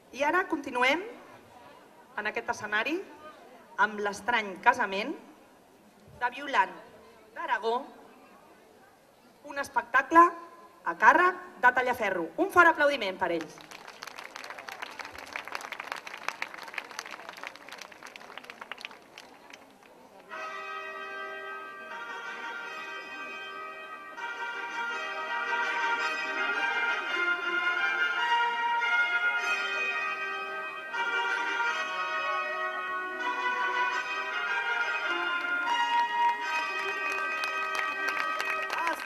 I ara continuem en aquest escenari amb l'estrany casament de Violant d'Aragó, un espectacle a càrrec de Tallaferro. Un fort aplaudiment per ells.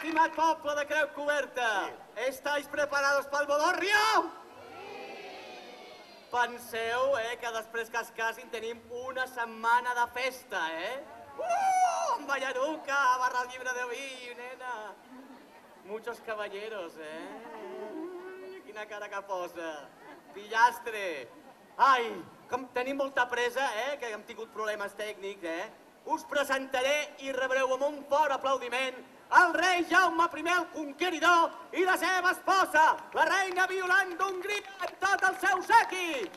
Estimat poble de Creu Coberta, ¿estáis preparados pel bodorrio? Penseu, que després que es casin tenim una setmana de festa, Amb ballaruca, barra llibre de vi, nena. Muchos caballeros, Quina cara que posa. Pillastre. Ai, com tenim molta pressa, que hem tingut problemes tècnics, us presentaré i rebreu amb un fort aplaudiment el rei Jaume I el Conqueridor i la seva esposa, la reina Violant d'Hongria, amb tot el seu séquit.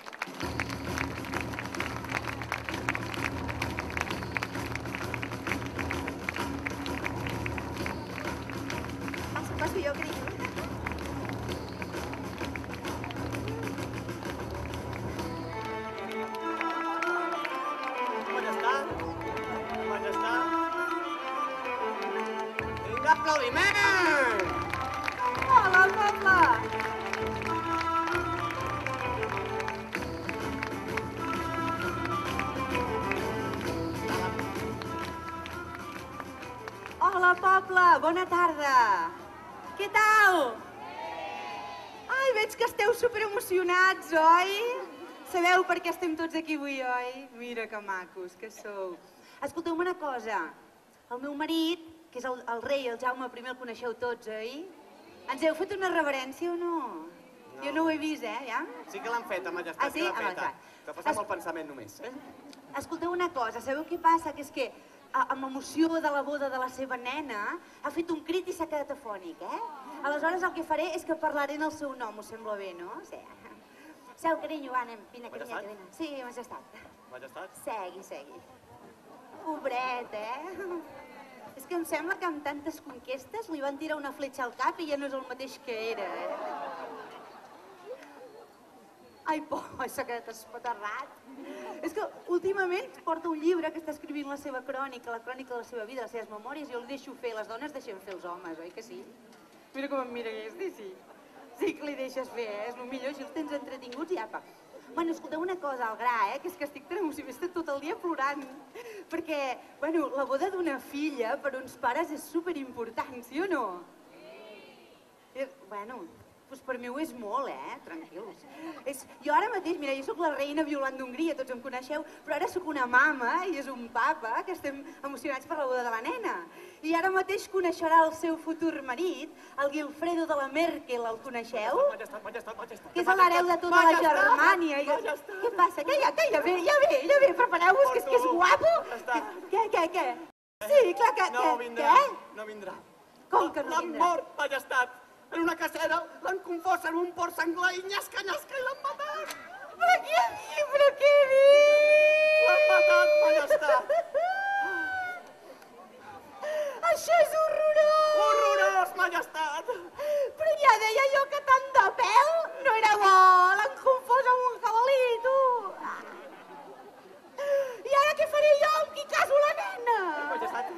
Passo jo, carinyo. Aplaudiment! Hola, poble! Hola, poble! Bona tarda! Què tal? Ai, veig que esteu superemocionats, oi? Sabeu per què estem tots aquí avui, oi? Mira que macos que sou. Escolteu-me una cosa. El meu marit, que és el rei, el Jaume I, el coneixeu tots, oi? Ens heu fet una reverència o no? Jo no ho he vist, ja? Sí que l'han feta, majestat, que l'han feta. Que passem el pensament només, Escolteu una cosa, sabeu què passa? Que és que amb l'emoció de la boda de la seva nena ha fet un crit i s'ha quedat afònic, Aleshores el que faré és que parlaré en el seu nom, us sembla bé, no? Sí. Seu, carinyo, anem, vine, carinyeta, vine. Sí, majestat. Majestat? Segui. Pobret, És que em sembla que amb tantes conquestes li van tirar una fletxa al cap i ja no és el mateix que era, Ai, s'ha quedat espaterrat. És que últimament porta un llibre que està escrivint la seva crònica, la crònica de la seva vida, les seves memòries, jo li deixo fer, les dones deixem fer els homes, oi que sí? Mira com em mira aquesta, sí. Sí que li deixes fer, és el millor, així els tens entretinguts i apa. Bueno, escolteu una cosa, al gra, que és que estic tan emocionada, tot el dia plorant. Perquè, bueno, la boda d'una filla per uns pares és superimportant, sí o no? Sí. Bueno, doncs per mi ho és molt, tranquils. Jo ara mateix, mira, jo sóc la reina Violant d'Hongria, tots em coneixeu, però ara sóc una mama i és un papa, que estem emocionats per la boda de la nena. I ara mateix coneixerà el seu futur marit, el Guilfredo de la Merkel, el coneixeu? Majestat. Que és l'hereu de tota la Germània. Què passa? Que ja ve, prepareu-vos, que és guapo. Què? Sí, clar que... No vindrà. Com que no vindrà? L'han mort, majestat. En una cacera l'han confós en un porc senglar i nyasca i l'han matat. Però què dius? L'han matat, majestat. Això és horrorós! Horrorós, majestat! Però ja deia jo que tant de pèl no era bo! L'han confós amb un jabalí, tu! I ara què faré jo amb qui caso la nena? Majestat!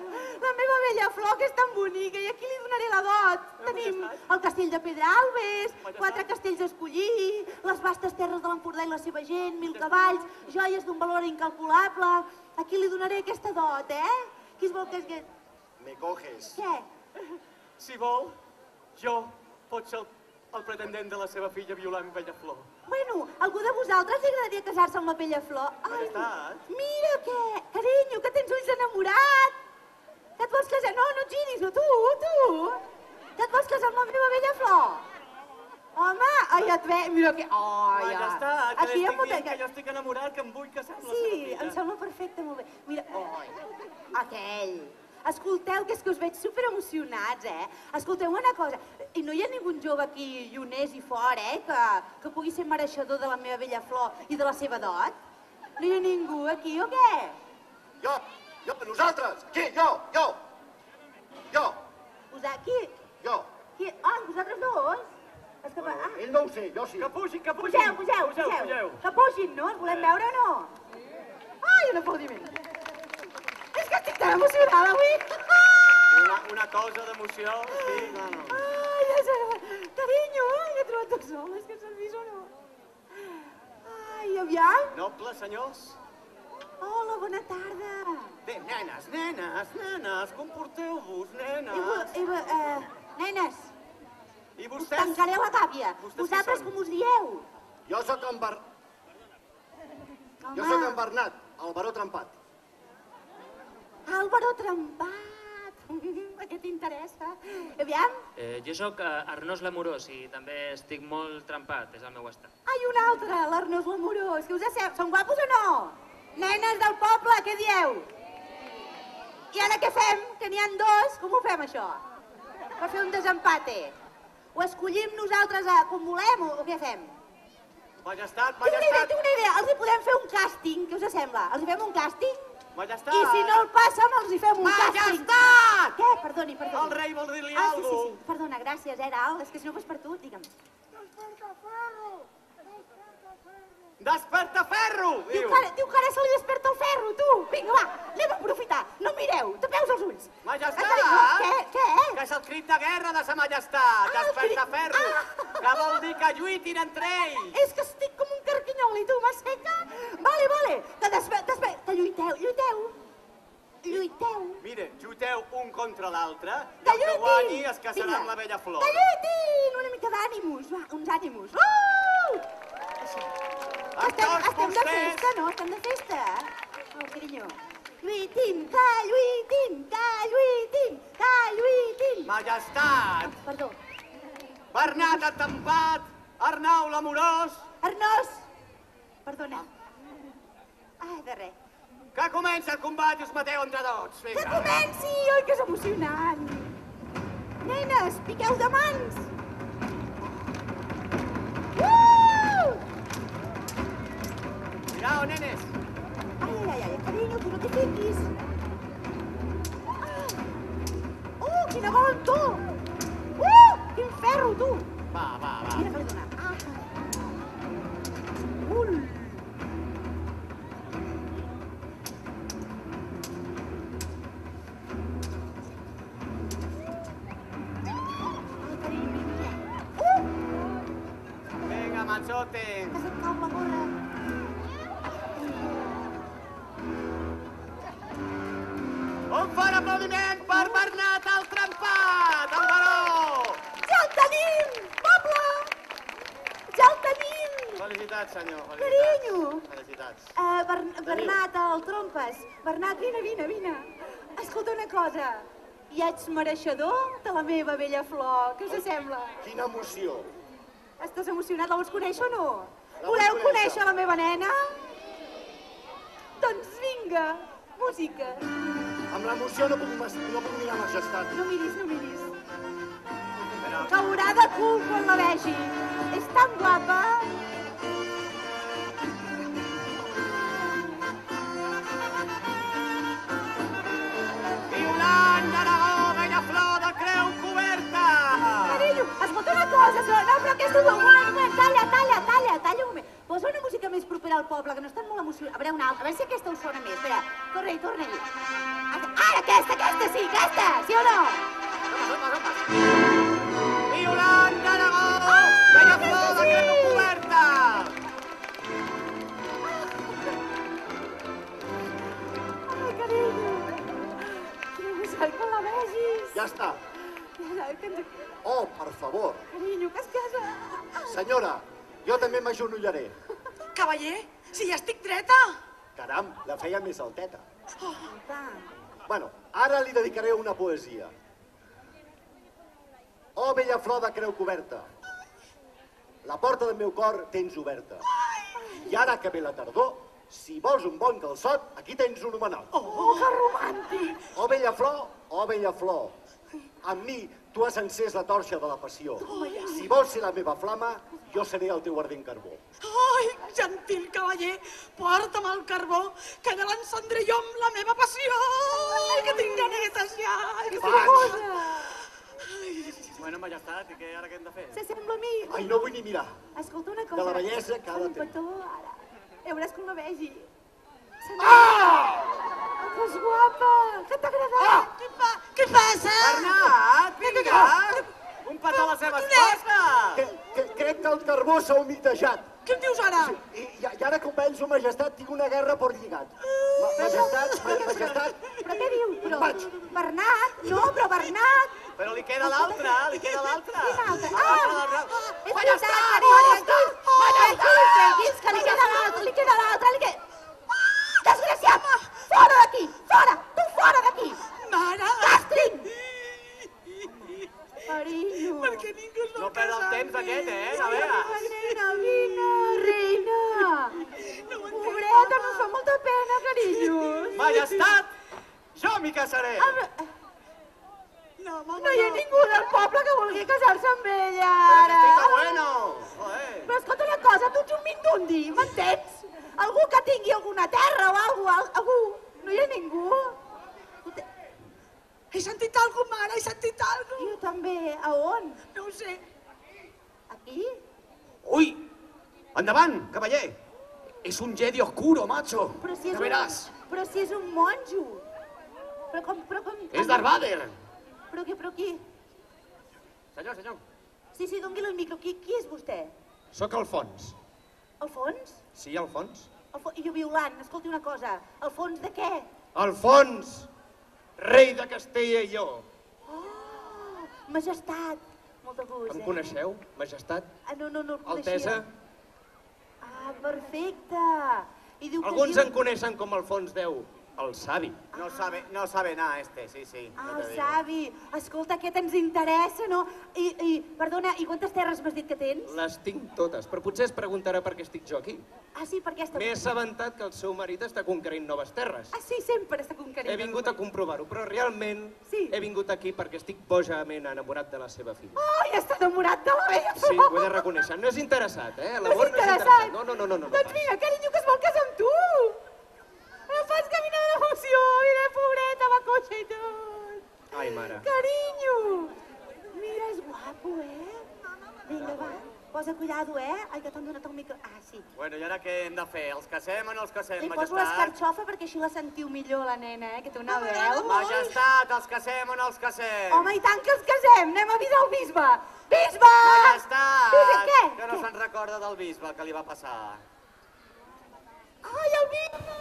La meva vella flor, que és tan bonica, i aquí li donaré la dot. Tenim el castell de Pedralbes, 4 castells a escollir, les vastes terres de l'Empordà i la seva gent, 1000 cavalls, joies d'un valor incalculable. Aquí li donaré aquesta dot, Qui es vol que és... Me coges. Què? Si vol, jo pot ser el pretendent de la seva filla Violant Bellaflor. Bueno, algú de vosaltres li agradaria casar-se amb la Bellaflor? Majestat. Mira què, carinyo, que tens ulls enamorat. Que et vols casar? No et giris, no, tu. Que et vols casar amb la meva Bellaflor? Home, ai, et ve, mira que... Majestat, que li estic dient que jo estic enamorat, que em vull casar amb la seva filla. Sí, em sembla perfecte, molt bé. Mira, aquell. Escolteu, que és que us veig superemocionats, Escolteu una cosa, i no hi ha ningú jove aquí, lluners i fora, que pugui ser mereixedor de la meva bella flor i de la seva dot? No hi ha ningú aquí, o què? Jo, nosaltres, aquí, jo. Qui? Jo. Qui? Ah, vosaltres dos? És que... Ell no ho sé, jo sí. Que pugin! Pugeu. Que pugin, no? Els volem veure o no? Ai, un aplaudiment. És que estic tan emocionada avui. Una cosa d'emoció, sí, no. Ai, ja sé. Carinyo, he trobat dos homes, que s'han vist o no? Ai, aviam. Nobles senyors. Hola, bona tarda. Bé, nenes, comporteu-vos, nenes. Nenes, I us vostès? tancaré la gàbia. Vostès Vosaltres qui són? com us dieu? Jo sóc en Bernat, el baró trempat. Álvaro Trempat. Què t'interessa? Aviam. Jo sóc Arnós l'Amorós i també estic molt trempat, és el meu estat. Ai, un altre, l'Arnós l'Amorós. Què us sembla? Són guapos o no? Nenes del poble, què dieu? I ara què fem? Que n'hi ha dos. Com ho fem, això? Per fer un desempate. Ho escollim nosaltres com volem o què fem? Majestat. Tinc una idea. Els hi podem fer un càsting. Què us sembla? Els hi fem un càsting? Majestat. I si no el passen, els hi fem un càsting. Majestat! Què? Perdoni. El rei vol dir-li Sí. alguna cosa. Perdona, gràcies, Ral. És que si no fos per tu, digue'm. Despertaferro, diu. Diu que ara se li desperta el ferro, tu. Vinga, va, anem a aprofitar. No mireu, tapeu els ulls. Majestat! Què? Que és el crit de guerra de sa majestat. Ah, el crit- Despertaferro. Que vol dir que lluitin entre ells. És que estic com un carquinyol i tu, m'asseca? Vale, que lluiteu. Mire, lluiteu un contra l'altre i Que el que lluitin! guanyi es casarà Vinga. amb la bella flor. Que lluitin! Una mica d'ànimus, va, uns ànimus. Actors Estem de vostès. festa, no? Estem de festa. Oh, carinyo. Lluitin, que lluitin. Majestat, Perdó. Bernat Atempat, Arnau l'Amorós, Arnós! Perdona. Ai, de res. que comença el combat i us mateu entre tots. Que Vinga. comenci! Oi, que és emocionant! Nenes, piqueu de mans! Mirau, nenes. Ai, carinyo, tu no t'hi fiquis. Oh, quina valentor! Quin ferro, tu! Va. Mira que li dona. Vinga, machote. Que se't cau la gorra. Un fort aplaudiment per Bernat el Trempat, el baró. Ja el tenim, poble! Ja el tenim! Felicitats, senyor. Carinyo! Felicitats. Bernat, el trompes. Bernat, vine. Escolta una cosa. Ja ets mereixedor de la meva bella flor. Què us sembla? Quina emoció. Estàs emocionat? La vols conèixer o no? La vull Voleu conèixer. conèixer la meva nena? Doncs vinga, música. Amb l'emoció no puc mirar majestat. No miris. Però, Caurà de cul quan la vegi. És tan guapa. Violant d'Aragó, bella flor de creu coberta. Carinyo, escolta una cosa, no, però aquesta és un moment, talla un moment. Posa una música més propera al poble, que no estan molt emocionats. A veure, una altra, a veure si aquesta us sona més. Espera, torna-hi. Ara, aquesta, sí o no? Violant d'Aragó, bella flor de creu coberta. Ai, carinyo. Quina emoció quan la vegis. Ja està. Carinyo, Oh, per favor. que es casa. Senyora, jo també m'agenollaré. Cavaller, si ja estic dreta! Caram, la feia més alteta. Va. Bueno, ara li dedicaré una poesia. Oh, bella flor de creu coberta, la porta del meu cor tens oberta. I ara que ve la tardor, Si vols un bon calçot, aquí tens un homenot. Oh, que romàntic! O bella flor, o bella flor. Amb mi, tu has encès la torxa de la passió. Si vols ser la meva flama, jo seré el teu ardent carbó. Ai, gentil cavaller, porta'm el carbó, que ja l'encendré jo amb la meva passió. Ai, que tinc ganetes ja. Ai, que Bueno, majestat, i què ara què hem de fer? S'assembla a mi. Ai, no vull ni mirar. Escolta una cosa. De la bellesa que ha de Un tenir. petó, ara. Ja veuràs com la vegi. Ah! Que és guapa! Que t'ha agradat! Què passa? Bernat, vinga! Un petó a la seva esposa! Crec que el carbó s'ha humitejat. Què em dius ara? I ara que ho penso, majestat, tinc una guerra per lligat. Majestat... Però què diu? Però... Vaig. Bernat? No, però Bernat! Però li queda l'altra, li queda l'altra. Quina altra? Ah! És veritat, carinyo! Tranquils, que li queda l'altra, li queda... Desgraciat! Fora d'aquí! Fora! Tu fora d'aquí! Mare! Castring! Carinyo! Per què ningú es vol No perd el casar temps amb aquest, mi? no veus? Nena, vine, reina! Pobreta, no fa molta pena, carinyo! Majestat, jo m'hi casaré. No, mama, No hi ha ningú del poble que vulgui casar-se amb ella, Però ara! que estic bueno. Joder. Però escolta una cosa, tu ets un mindundi, m'entens? Algú que tingui alguna terra o algú. No hi ha ningú? he sentit alguna cosa, mare, he sentit alguna cosa. Jo també. A on? No ho sé. Aquí? Ui! Endavant, cavaller! És un Jedi oscuro, macho! Però si és Ja veràs! Però si és un monjo. Però com... És Darth Vader! Però qui? Senyor. Sí, dongui el micro. Qui és vostè? Sóc Alfons. Alfons? Sí, Alfons? I jo violant, escolti una cosa. Alfons de què? Alfons! Rei de Castella i Lleó. Oh, majestat. Molt de gust, Em coneixeu, majestat? No el coneixia. Altesa? Ah, perfecte. I diu que Alguns diu... en coneixen com Alfons X, el savi. No sabe nada este, sí. Ah, no el te digo. savi. Escolta, aquest ens interessa, no? Perdona, i quantes terres m'has dit que tens? Les tinc totes, però potser es preguntarà per què estic jo aquí. Ah, sí, per què està... M'he assabentat que el seu marit està conquerint noves terres. Ah, sí, sempre està conquerint. He vingut a comprovar-ho, però realment Sí. he vingut aquí perquè estic bojament enamorat de la seva filla. Ai, està enamorat de la vella Sí, flor. ho he de reconèixer. No és interessat, eh? No és L'amor interessat? No. Doncs mira, carinyo, que es vol casar amb tu. Me fas caminar d'emoció, mira, pobreta, va coixa i tot. Ai, mare. Carinyo. Mira, és guapo, Vinga, va. Posa cuidado, Ai, que t'han donat el micro... Ah, sí. Bueno, i ara què hem de fer? Els casem o no els casem, Li poso majestat? l'escarxofa perquè així la sentiu millor, la nena, que té una veu. Majestat, els casem o no els casem? Home, i tant que els casem! Anem a avisar el bisbe! Bisbe! Majestat! Bisbe, què? Que no se'n recorda del bisbe, el que li va passar. Ai, el bisbe!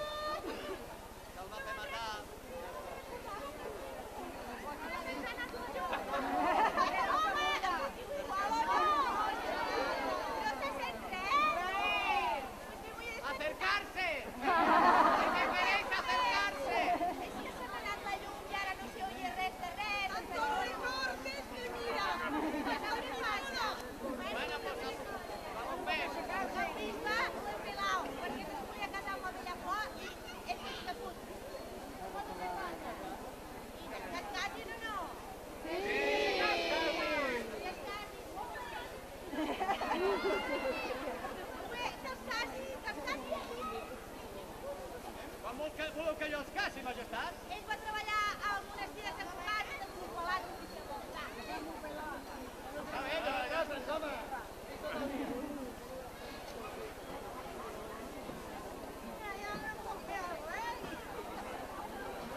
Voleu que jo els casi, majestat? Ell va treballar al monestir de Sant Cugat de Corpalat. A veure, gràcies, home!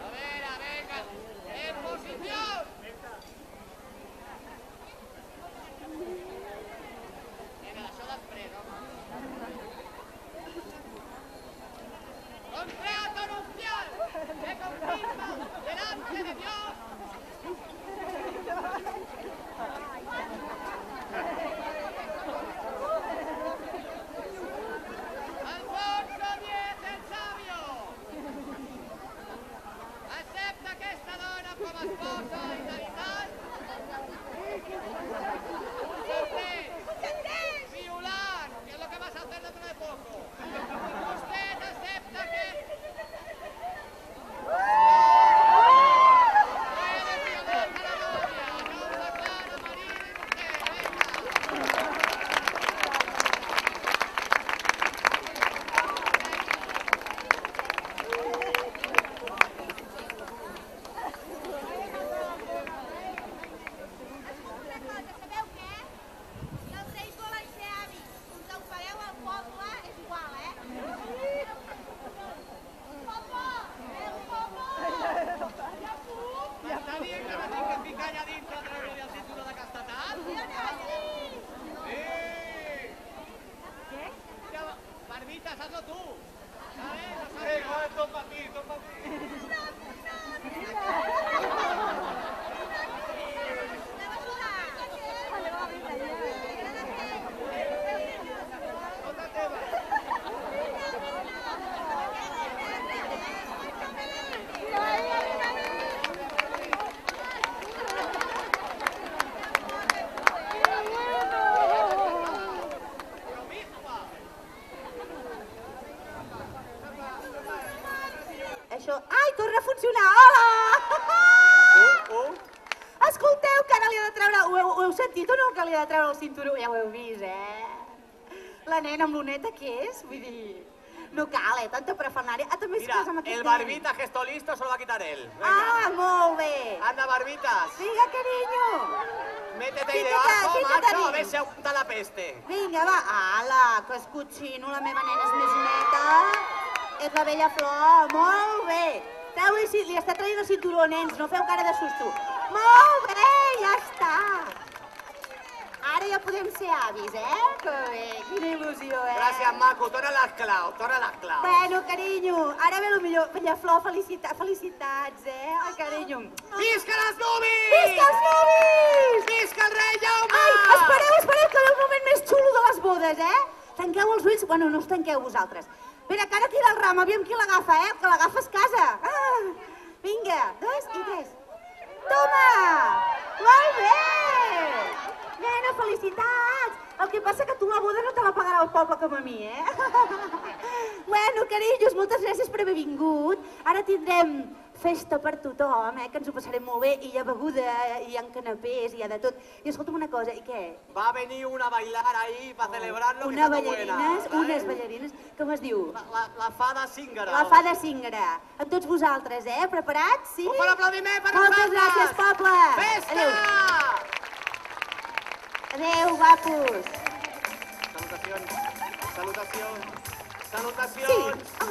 A veure, venga, en posició! Vinga, això després, home. ¡Contrato nupcial! ¡Me confirma delante de Dios! hazlo tú. Això... Ai, torna a funcionar! Hola! Escolteu, que ara li ha de treure... Ho heu sentit o no, que li ha de treure el cinturó? Ja ho heu vist, La nena amb l'oneta, què és? Vull dir... No cal, tanta prefernària. Ah, també es Mira, casa amb aquest el nen. barbita gesto listo se lo va a quitar él. Venga. Ah, molt bé! Anda, barbitas. Vinga, carinyo! Métete ahí Fica't, debajo, fica't macho, a dins. ver si apunta la peste. Vinga, va. Ala, que escotxino, la meva nena és més neta. És la vella flor, molt bé. Li està traient el cinturó, nens, no feu cara de susto. Molt bé, ja està. Ara ja podem ser avis, Que bé, quina il·lusió, Gràcies, maco, torna les claus, Bueno, carinyo, ara ve el millor. Vella flor, felicitats, Ai, carinyo. Visca les nuvis! Visca els nuvis! Visca el rei Jaume! Ai, espereu, que ve el moment més xulo de les bodes, Tanqueu els ulls, bueno, no us tanqueu vosaltres. Espera, que ara tira el ram, aviam qui l'agafa, El que l'agafa es casa. Vinga, 2 i 3. Toma! Molt bé! Nena, felicitats! El que passa que tu la boda no te la pagarà el poble com a mi, Bueno, carinyo, moltes gràcies per haver vingut. Ara tindrem festa per tothom, que ens ho passarem molt bé, i hi ha beguda, hi ha canapés, hi ha de tot. I escolta'm una cosa, i què? Va a venir una a bailar ahí para celebrarlo, que Unes está muy ballarines, buena. unes ballarines, com es diu? La fada zíngara. La fada cíngara. Amb tots vosaltres, Preparats? Sí? Un bon aplaudiment per Moltes nosaltres! gràcies, poble! Festa! Adéu. Adéu, guapos! Salutacions, salutacions, Sí. salutacions. Ah.